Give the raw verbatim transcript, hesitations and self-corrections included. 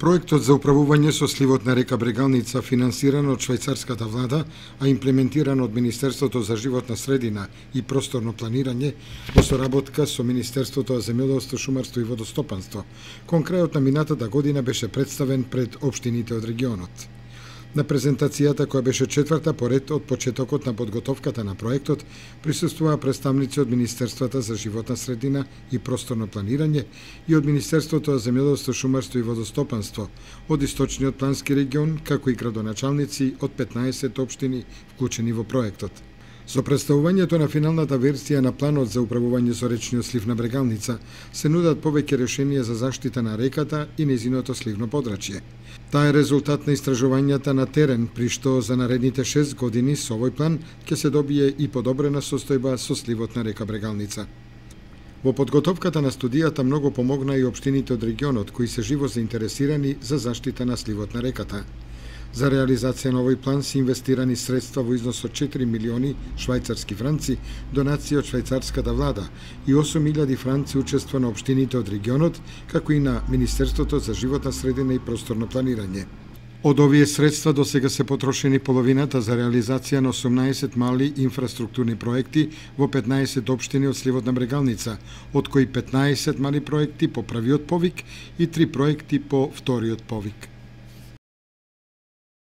Проектот за управување со сливот на река Брегалница, финансиран од швајцарската влада, а имплементиран од Министерството за животна средина и просторно планирање, во соработка со Министерството за земјоделство, шумарство и водостопанство, кон крајот на минатата година беше представен пред општините од регионот. На презентацијата, која беше четврта поред од почетокот на подготовката на проектот, присуствуваа представници од Министерствата за животна средина и просторно планирање и од Министерството за земјоделство, шумарство и водостопанство, од Источниот плански регион, како и градоначалници од петнаесет општини вклучени во проектот. Со представувањето на финалната версија на планот за управување со речниот слив на Брегалница се нудат повеќе решенија за заштита на реката и нејзиното сливно подрачје. Таа е резултат на истражувањата на терен, при што за наредните шест години со овој план ќе се добие и подобрена состојба со сливот на река Брегалница. Во подготовката на студијата многу помогна и општините од регионот, кои се живо заинтересирани за заштита на сливот на реката. За реализација на овој план се инвестирани средства во износ од четири милиони швајцарски франци, донација од швајцарската влада и осум илјади франци учество на општините од регионот, како и на Министерството за животна средина и просторно планирање. Од овие средства до сега се потрошени половината за реализација на осумнаесет мали инфраструктурни проекти во петнаесет општини од сливот на Брегалница, од кои петнаесет мали проекти по првиот повик и три проекти по вториот повик.